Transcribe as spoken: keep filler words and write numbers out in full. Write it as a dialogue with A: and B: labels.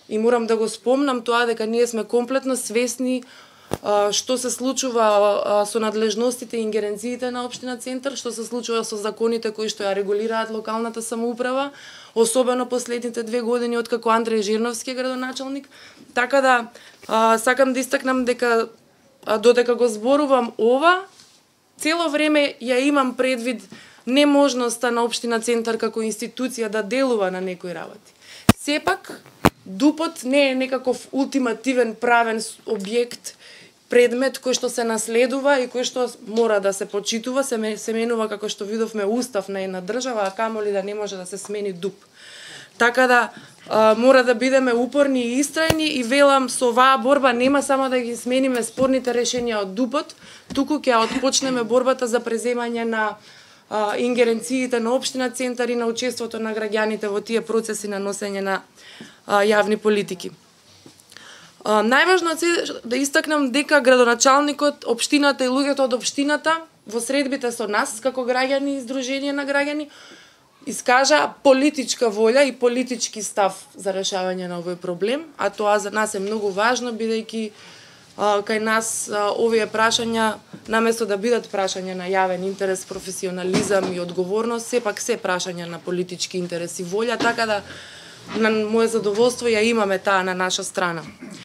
A: и морам да го спомнам тоа дека ние сме комплетно свесни што се случува со надлежностите и ингеренциите на општина Центар, што се случува со законите кои што ја регулираат локалната самоуправа, особено последните две години откако Андреј Жирновски е градоначалник. Така да сакам да истакнам дека додека го зборувам ова, цело време ја имам предвид неможноста на општина Центар како институција да делува на некои работи. Сепак, ДУП-от не е некаков ултимативен правен објект, предмет кој што се наследува и кој што мора да се почитува, се, се менува како што видовме устав на една држава, а камоли да не може да се смени ДУП. Така да а, мора да бидеме упорни и истрајни и велам со оваа борба нема само да ги смениме спорните решенија од ДУП-от, туку ќе отпочнеме борбата за преземање на а, ингеренциите на општина Центар и на учеството на граѓаните во тие процеси на носење на а, јавни политики. Uh, најважно е да истакнам дека градоначалникот, општината и луѓето од општината во средбите со нас како граѓани и издружение на граѓани искажа политичка волја и политички став за решавање на овој проблем, а тоа за нас е многу важно бидејќи uh, кај нас uh, овие прашања наместо да бидат прашања на јавен интерес, професионализам и одговорност, сепак се прашања на политички интерес и волја, така да на моје задоволство ја имаме таа на наша страна.